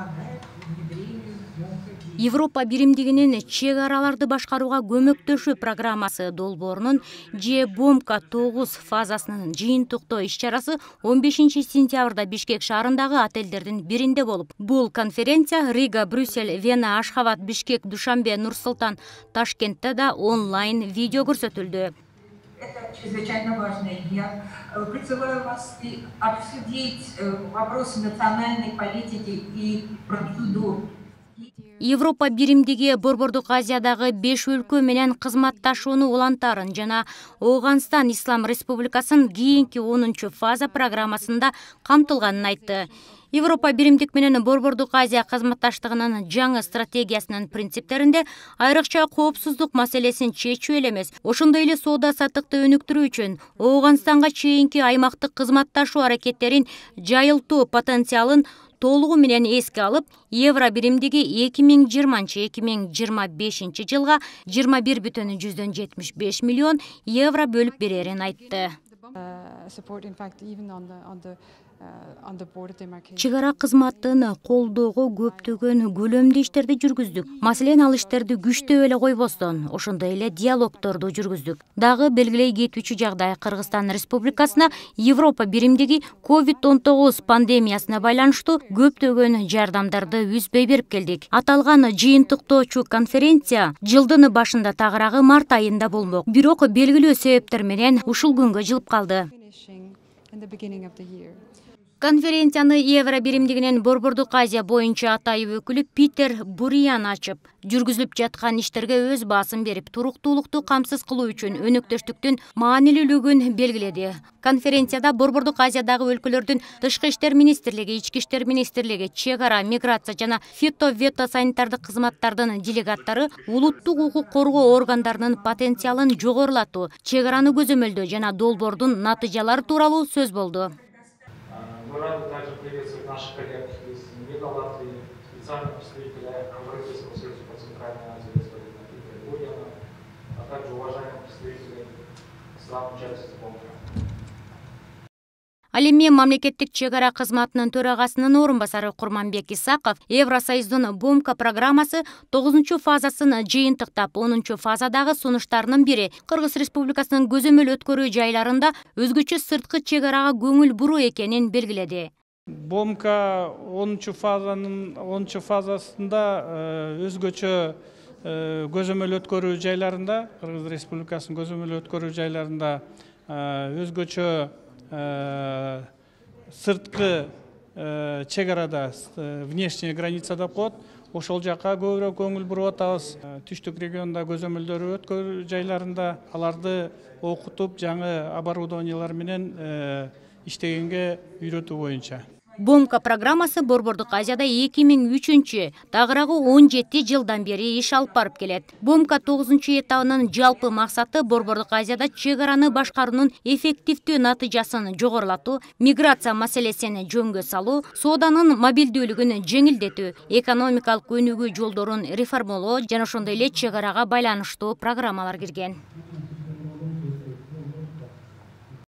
помогает внедрению МОМКа. Европа биримдигинин чек араларды башкарууга көмөктөшүү программасы долбоорунун же БОМКа 9 фазасынын жыйынтыктоо иш-чарасы 15 сентябрда Бишкек шаарындагы отелдердин биринде болуп. Бул конференция Рига, Брюссель, Вена, Ашхабад, Бишкек, Душанбе, Нур-Султан, Ташкентте да онлайн видео көрсөтүлдү. Это чрезвычайно важно. Я призываю вас обсудить вопросы национальной политики и процедур. Европа биримдиги Борбордук Азиядагы 5 өлкө менен кызматташууну улантарын жана Ооганстан Ислам Республикасынын кийинки 10-фаза программасында камтылганын айтты. Европа биримдик менен Борбордук Азия кызматташтыгынын жаңы стратегиясынын принциптеринде айрыкча коопсуздук маселесин чечүү эле эмес, ошондой эле соода саттыкты өнүктүрүү үчүн Ооганстанга чейинки аймактык кызматташуу аракеттерин жайылтуу потенциалын толугу менен эске алып, евро биримдиги 2020-2025 жылга 21,75 миллион евро бөлүп берерин айтты. Чек ара кызматын колдоого көптөгөн көлөмдүү иштерди жүргүздүк. Маселен, ал иштерди күчтөп эле койбостон, ошондой эле диалогторду жүргүздүк. Дагы белгилей кетүүчү жагдай Кыргызстан Республикасына Европа биримдиги COVID-19 пандемиясына байланыштуу көптөгөн жардамдарды үзбөй берип келдик. Аталган жыйынтыктоочу конференция жылдын башында тагыраагы март айында болмок. Бирок белгилүү себептер менен ушул күнгө жылып калды. Конференцияны Евро биримдигинин Борбордук Азия боюнча атайып өкүлү Питер Буриан ачып, жүргүзүлүп жаткан иштерге өз баасын берип, туруктуулукту камсыз кылуу үчүн өнөктөштүктүн маанилүүлүгүн белгиледи. Конференцияда Борбордук Азиядагы өлкөлөрдүн тышкы иштер министрлиги, ички иштер министрлиги, чек ара, миграция жана фито-санитардык кызматтардын делегаттары улуттук укук коргоо органдарынын потенциалын жогорулатуу, чек араны көзөмөлдөө жана долбоордун натыйжалары тууралуу сөз болду. Мы рады также приветствовать наших коллег из МИДа Латвии, специального представителя Европейского союза по Центральной Азии господина Питера Буриана, а также уважаемых представителей стран-участниц БОМКа. Ал эми мамлекеттик чек ара кызматынын төрагасынын орун басары Курманбек Исаков Евросоюздун БОМКа программасы 9-фазасын жыйынтыктап, 10-фазадагы сунуштарынын бири Кыргыз Республикасынын көзөмөл өткөрүү жайларында өзгөчө сырткы чек арага көңүл буруу экенин белгиледи. БОМКа 10-фазасында өзгөчө көзөмөл өткөрүү жайларында, Кыргыз Республикасынын көзөмөл өткөрүү жайларында өзгөчө сырткы чек арада, внешняя граница деп коет, ошол жакка көбүрөөк көңүл буруп атабыз. Түштүк регионда көзөмөлдөрү өткөрүү жайларында аларды окутуп, жаңы оборудованиялар менен иштегенге үйрөтүү боюнча. БОМКа программасы Борбордук Азияда 2003, тагыраагы 17 жылдан бери иш алып барып келет. БОМКа 9-этабынын жалпы максаты Борбордук Азияда чек араны башкаруунун эффективдүү натыйжасын жогорулатуу, миграция маселесин жөнгө салуу, сооданын мобилдүүлүгүн жеңилдетүү, экономикалык өнүгүү жолдорун реформалоо жана ошондой эле чек арага байланыштуу программалар кирген.